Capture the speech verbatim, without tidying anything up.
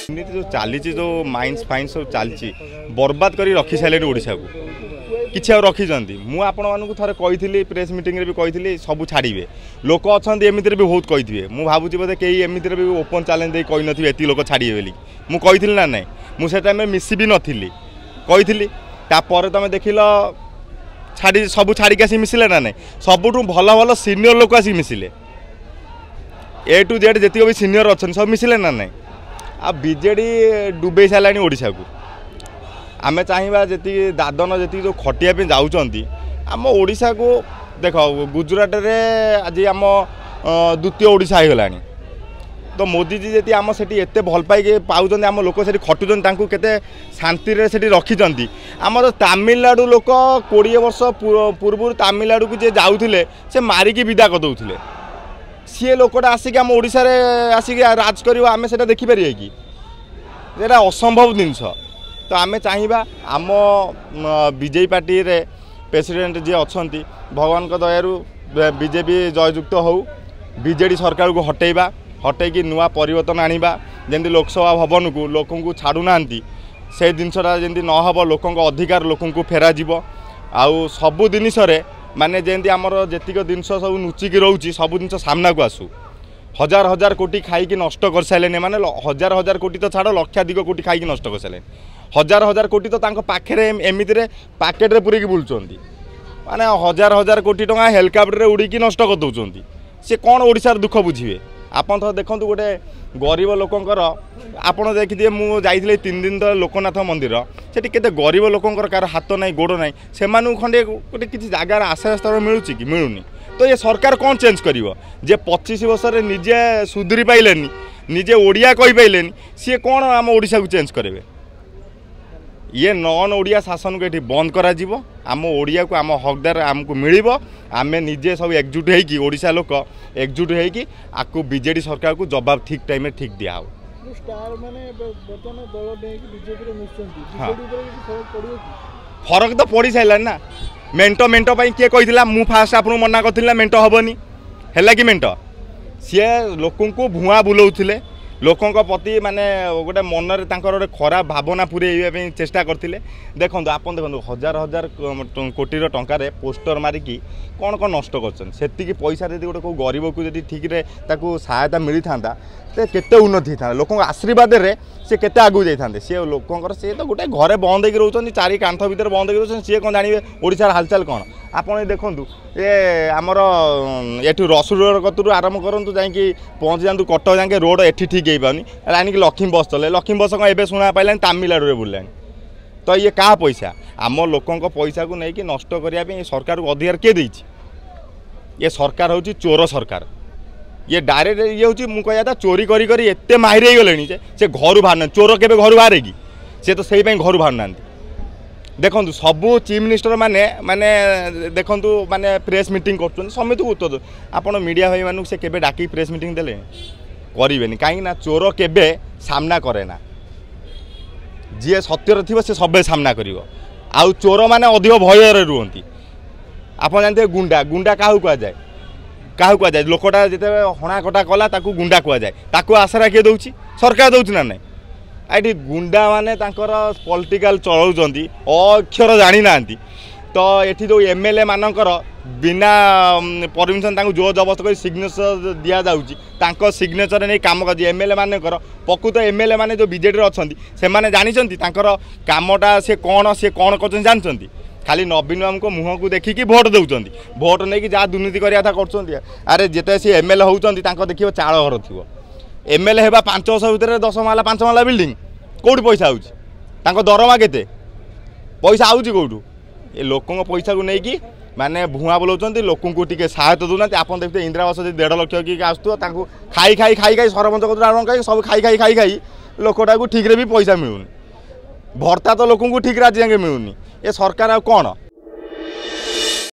ଏମିତି ଯେଉଁ ଚାଲିଛି, ଯେଉଁ ମାଇନ୍ସ ଫାଇନ୍ସ ସବୁ ଚାଲିଛି, ବର୍ବାଦ କରି ରଖି ସାରିଲେଣି ଓଡ଼ିଶାକୁ। କିଛି ଆଉ ରଖିଛନ୍ତି? ମୁଁ ଆପଣମାନଙ୍କୁ ଥରେ କହିଥିଲି, ପ୍ରେସ୍ ମିଟିଂରେ ବି କହିଥିଲି, ସବୁ ଛାଡ଼ିବେ। ଲୋକ ଅଛନ୍ତି ଏମିତିରେ ବି ବହୁତ କହିଥିବେ। ମୁଁ ଭାବୁଛି ବୋଧେ କେହି ଏମିତିରେ ବି ଓପନ୍ ଚ୍ୟାଲେଞ୍ଜ ଦେଇ କହିନଥିବେ ଏତିକି ଲୋକ ଛାଡ଼ିବେ ବୋଲି। ମୁଁ କହିଥିଲି ନା ନାହିଁ? ମୁଁ ସେ ଟାଇମ୍ରେ ମିଶି ବି ନଥିଲି, କହିଥିଲି। ତାପରେ ତୁମେ ଦେଖିଲ, ଛାଡ଼ି ସବୁ ଛାଡ଼ିକି ଆସି ମିଶିଲେ ନା ନାହିଁ? ସବୁଠୁ ଭଲ ଭଲ ସିନିୟର ଲୋକ ଆସିକି ମିଶିଲେ। ଏ ଟୁ ଜେଡ଼୍ ଯେତିକି ବି ସିନିୟର ଅଛନ୍ତି, ସବୁ ମିଶିଲେ ନା ନାହିଁ? ଆଉ ବିଜେଡ଼ି ଡୁବେଇ ସାରିଲାଣି ଓଡ଼ିଶାକୁ। ଆମେ ଚାହିଁବା ଯେତିକି ଦାଦନ, ଯେତିକି ଯେଉଁ ଖଟିବା ପାଇଁ ଯାଉଛନ୍ତି ଆମ ଓଡ଼ିଶାକୁ, ଦେଖ, ଗୁଜୁରାଟରେ ଆଜି ଆମ ଦ୍ୱିତୀୟ ଓଡ଼ିଶା ହେଇଗଲାଣି। ତ ମୋଦିଜୀ ଯଦି ଆମ ସେଠି ଏତେ ଭଲ ପାଇକି ପାଉଛନ୍ତି, ଆମ ଲୋକ ସେଠି ଖଟୁଛନ୍ତି, ତାଙ୍କୁ କେତେ ଶାନ୍ତିରେ ସେଠି ରଖିଛନ୍ତି। ଆମର ତାମିଲନାଡ଼ୁ ଲୋକ କୋଡ଼ିଏ ବର୍ଷ ପୂର୍ବରୁ ତାମିଲନାଡ଼ୁକୁ ଯିଏ ଯାଉଥିଲେ, ସେ ମାରିକି ବିଦା କରିଦେଉଥିଲେ। ସିଏ ଲୋକଟା ଆସିକି ଆମ ଓଡ଼ିଶାରେ ଆସିକି ରାଜ କରିବ, ଆମେ ସେଇଟା ଦେଖିପାରିବା କି? ଏଇଟା ଅସମ୍ଭବ ଜିନିଷ। ତ ଆମେ ଚାହିଁବା ଆମ ବିଜେପି ପାର୍ଟିରେ ପ୍ରେସିଡେଣ୍ଟ ଯିଏ ଅଛନ୍ତି, ଭଗବାନଙ୍କ ଦୟାରୁ ବିଜେପି ଜୟଯୁକ୍ତ ହେଉ। ବିଜେଡ଼ି ସରକାରକୁ ହଟେଇବା, ହଟେଇକି ନୂଆ ପରିବର୍ତ୍ତନ ଆଣିବା। ଯେମିତି ଲୋକସଭା ଭବନକୁ ଲୋକଙ୍କୁ ଛାଡ଼ୁନାହାନ୍ତି, ସେ ଜିନିଷଟା ଯେମିତି ନ ହେବ, ଲୋକଙ୍କ ଅଧିକାର ଲୋକଙ୍କୁ ଫେରାଯିବ। ଆଉ ସବୁ ଜିନିଷରେ ମାନେ ଯେମିତି ଆମର ଯେତିକ ଜିନିଷ ସବୁ ଲୁଚିକି ରହୁଛି, ସବୁ ଜିନିଷ ସାମ୍ନାକୁ ଆସୁ। ହଜାର ହଜାର କୋଟି ଖାଇକି ନଷ୍ଟ କରିସାରିଲେଣି ମାନେ, ହଜାର ହଜାର କୋଟି ତ ଛାଡ଼, ଲକ୍ଷାଧିକ କୋଟି ଖାଇକି ନଷ୍ଟ କରିସାରିଲେଣି। ହଜାର ହଜାର କୋଟି ତ ତାଙ୍କ ପାଖରେ ଏମିତିରେ ପାକେଟରେ ପୁରେଇକି ବୁଲୁଛନ୍ତି। ମାନେ ହଜାର ହଜାର କୋଟି ଟଙ୍କା ହେଲିକପ୍ଟରରେ ଉଡ଼ିକି ନଷ୍ଟ କରିଦେଉଛନ୍ତି। ସେ କ'ଣ ଓଡ଼ିଶାର ଦୁଃଖ ବୁଝିବେ? ଆପଣ ତ ଦେଖନ୍ତୁ, ଗୋଟେ ଗରିବ ଲୋକଙ୍କର ଆପଣ ଦେଖିଥିବେ, ମୁଁ ଯାଇଥିଲି ତିନି ଦିନ ତଳେ ଲୋକନାଥ ମନ୍ଦିର। ସେଠି କେତେ ଗରିବ ଲୋକଙ୍କର, କାହାର ହାତ ନାହିଁ, ଗୋଡ଼ ନାହିଁ, ସେମାନଙ୍କୁ ଖଣ୍ଡେ ଗୋଟେ କିଛି ଜାଗାର ଆଶ୍ରୟସ୍ଥଳ ମିଳୁଛି କି? ମିଳୁନି। ତ ଏ ସରକାର କ'ଣ ଚେଞ୍ଜ କରିବ? ଯେ ପଚିଶ ବର୍ଷରେ ନିଜେ ସୁଧୁରି ପାଇଲେନି, ନିଜେ ଓଡ଼ିଆ କହିପାଇଲେନି, ସିଏ କ'ଣ ଆମ ଓଡ଼ିଶାକୁ ଚେଞ୍ଜ କରିବେ? ଇଏ ନନ୍ ଓଡ଼ିଆ ଶାସନକୁ ଏଠି ବନ୍ଦ କରାଯିବ। ଆମ ଓଡ଼ିଆକୁ ଆମ ହକଦାର ଆମକୁ ମିଳିବ। ଆମେ ନିଜେ ସବୁ ଏକଜୁଟ ହେଇକି, ଓଡ଼ିଶା ଲୋକ ଏକଜୁଟ ହେଇକି ଆକୁ ବିଜେଡ଼ି ସରକାରକୁ ଜବାବ ଠିକ୍ ଟାଇମ୍ରେ ଠିକ୍ ଦିଆହେବ। ଷ୍ଟାର ମାନେ ବର୍ତ୍ତମାନ ଦଳ ନେଇକି ବିଜେପିରେ ମିଶୁଛନ୍ତି, ବିଜେଡି ଉପରେ କିଛି ଫରକ ପଡ଼ିବ କି? ଫରକ ତ ପଡ଼ି ସାରିଲାଣି ନା। ମେଣ୍ଟ ମେଣ୍ଟ ପାଇଁ କିଏ କହିଥିଲା? ମୁଁ ଫାଷ୍ଟ ଆପଣଙ୍କୁ ମନା କରିଥିଲି ନା, ମେଣ୍ଟ ହେବନି। ହେଲା କି ମେଣ୍ଟ? ସିଏ ଲୋକଙ୍କୁ ଭୁଆଁ ବୁଲଉଥିଲେ। ଲୋକଙ୍କ ପ୍ରତି ମାନେ ଗୋଟେ ମନରେ ତାଙ୍କର ଗୋଟେ ଖରାପ ଭାବନା ପୁରେଇବା ପାଇଁ ଚେଷ୍ଟା କରିଥିଲେ। ଦେଖନ୍ତୁ, ଆପଣ ଦେଖନ୍ତୁ, ହଜାର ହଜାର କୋଟିର ଟଙ୍କାରେ ପୋଷ୍ଟର ମାରିକି କ'ଣ କ'ଣ ନଷ୍ଟ କରିଛନ୍ତି। ସେତିକି ପଇସା ଯଦି ଗୋଟେ କେଉଁ ଗରିବକୁ ଯଦି ଠିକ୍ରେ ତାକୁ ସହାୟତା ମିଳିଥାନ୍ତା, ସେ କେତେ ଉନ୍ନତି ହେଇଥାନ୍ତା। ଲୋକଙ୍କ ଆଶୀର୍ବାଦରେ ସେ କେତେ ଆଗକୁ ଯାଇଥାନ୍ତେ। ସିଏ ଲୋକଙ୍କର, ସିଏ ତ ଗୋଟେ ଘରେ ବନ୍ଦ ହେଇକି ରହୁଛନ୍ତି, ଚାରି କାନ୍ଥ ଭିତରେ ବନ୍ଦ ହେଇକି ରହୁଛନ୍ତି। ସିଏ କ'ଣ ଜାଣିବେ ଓଡ଼ିଶାର ହାଲଚାଲ କ'ଣ? ଆପଣ ଦେଖନ୍ତୁ, ଏ ଆମର ଏଠୁ ରସୁଲଗଡ଼ କତରୁ ଆରମ୍ଭ କରନ୍ତୁ, ଯାଇକି ପହଞ୍ଚି ଯାଆନ୍ତୁ କଟକ ଯାକେ, ରୋଡ଼ ଏଠି ଠିକ୍ ହେଇପାରୁନି। ଆଣିକି ଲକ୍ଷ୍ମୀ ବସ୍ ଚଲେ। ଲକ୍ଷ୍ମୀ ବସ୍ କ'ଣ ଏବେ ଶୁଣା ପାଇଲାଣି? ତାମିଲନାଡ଼ୁରେ ବୁଲିଲାଣି। ତ ଇଏ କାହା ପଇସା? ଆମ ଲୋକଙ୍କ ପଇସାକୁ ନେଇକି ନଷ୍ଟ କରିବା ପାଇଁ ଏ ସରକାରକୁ ଅଧିକାର କିଏ ଦେଇଛି? ଏ ସରକାର ହେଉଛି ଚୋର ସରକାର। ଇଏ ଡାଇରେକ୍ଟ ଇଏ ହେଉଛି, ମୁଁ କହିବା କଥା, ଚୋରି କରି କରି ଏତେ ମାହିର ହେଇଗଲେଣି ଯେ ସେ ଘରୁ ବାହାରୁନାହାନ୍ତି। ଚୋର କେବେ ଘରୁ ବାହାରେ କି? ସେ ତ ସେଇ ପାଇଁ ଘରୁ ବାହାରୁନାହାନ୍ତି। ଦେଖନ୍ତୁ, ସବୁ ଚିଫ୍ ମିନିଷ୍ଟର ମାନେ ମାନେ ଦେଖନ୍ତୁ, ମାନେ ପ୍ରେସ୍ ମିଟିଂ କରୁଛନ୍ତି, ସମସ୍ତଙ୍କୁ ଉତ୍ତର। ଆପଣ ମିଡ଼ିଆ ଭାଇମାନଙ୍କୁ ସେ କେବେ ଡାକିକି ପ୍ରେସ୍ ମିଟିଂ ଦେଲେ? କରିବେନି। କାହିଁକି ନା ଚୋର କେବେ ସାମ୍ନା କରେ ନା। ଯିଏ ସତ୍ୟରେ ଥିବ, ସେ ସବୁବେଳେ ସାମ୍ନା କରିବ। ଆଉ ଚୋରମାନେ ଅଧିକ ଭୟରେ ରୁହନ୍ତି। ଆପଣ ଜାଣିଥିବେ ଗୁଣ୍ଡା, ଗୁଣ୍ଡା କାହାକୁ କୁହାଯାଏ? କାହାକୁ କୁହାଯାଏ? ଲୋକଟା ଯେତେବେଳେ ହଣା କଟା କଲା, ତାକୁ ଗୁଣ୍ଡା କୁହାଯାଏ। ତାକୁ ଆସରା କିଏ ଦେଉଛି? ସରକାର ଦେଉଛି ନା ନାହିଁ? ଏଠି ଗୁଣ୍ଡାମାନେ ତାଙ୍କର ପଲିଟିକାଲ ଚଳାଉଛନ୍ତି, ଅକ୍ଷର ଜାଣିନାହାନ୍ତି। ତ ଏଠି ଯେଉଁ ଏମ୍ ଏଲ୍ ଏ ମାନଙ୍କର ବିନା ପରମିସନ୍ ତାଙ୍କୁ ଜୋର ଜବରଦସ୍ତ କରି ସିଗ୍ନେଚର ଦିଆଯାଉଛି, ତାଙ୍କ ସିଗ୍ନେଚର ନେଇ କାମ କରୁଛି ଏମ୍ ଏଲ୍ ଏ ମାନଙ୍କର। ପ୍ରକୃତ ଏମ୍ ଏଲ୍ ଏ ମାନେ ଯେଉଁ ବିଜେଡ଼ିରେ ଅଛନ୍ତି, ସେମାନେ ଜାଣିଛନ୍ତି ତାଙ୍କର କାମଟା ସେ କ'ଣ, ସେ କ'ଣ କରୁଛନ୍ତି ଜାଣିଛନ୍ତି। ଖାଲି ନବୀନ ବାବୁଙ୍କ ମୁହଁକୁ ଦେଖିକି ଭୋଟ ଦେଉଛନ୍ତି, ଭୋଟ ନେଇକି ଯାହା ଦୁର୍ନୀତି କରିବା କଥା କରୁଛନ୍ତି। ଆରେ, ଯେତେବେଳେ ସେ ଏମ୍ ଏଲ୍ ଏ ହେଉଛନ୍ତି, ତାଙ୍କ ଦେଖିବ ଚାଳ ଘର ଥିବ। ଏମ୍ ଏଲ୍ ଏ ହେବା ପାଞ୍ଚ ବର୍ଷ ଭିତରେ ଦଶ ମହଲା, ପାଞ୍ଚ ମହଲା ବିଲ୍ଡିଂ। କେଉଁଠି ପଇସା ହେଉଛି? ତାଙ୍କ ଦରମା କେତେ? ପଇସା ଆଉଛି କେଉଁଠୁ? ଏ ଲୋକଙ୍କ ପଇସାକୁ ନେଇକି ମାନେ ଭୁଆଁ ବୁଲାଉଛନ୍ତି, ଲୋକଙ୍କୁ ଟିକେ ସହାୟତା ଦେଉନାହାନ୍ତି। ଆପଣ ଦେଖିଥିବେ, ଇନ୍ଦିରା ଆବାସ ଯଦି ଦେଢ଼ ଲକ୍ଷ କି ଆସୁଥିବ, ତାଙ୍କୁ ଖାଇ ଖାଇ ଖାଇ ଖାଇ ସରପଞ୍ଚ କତୁରୁ ଆରମ୍ଭ ଖାଇ ସବୁ ଖାଇ ଖାଇ ଖାଇ ଖାଇ ଲୋକଟାକୁ ଠିକ୍ରେ ବି ପଇସା ମିଳୁନି। ଭତ୍ତା ତ ଲୋକଙ୍କୁ ଠିକ୍ରେ ଆଜି ଯାକେ ମିଳୁନି। ଏ ସରକାର ଆଉ କ'ଣ?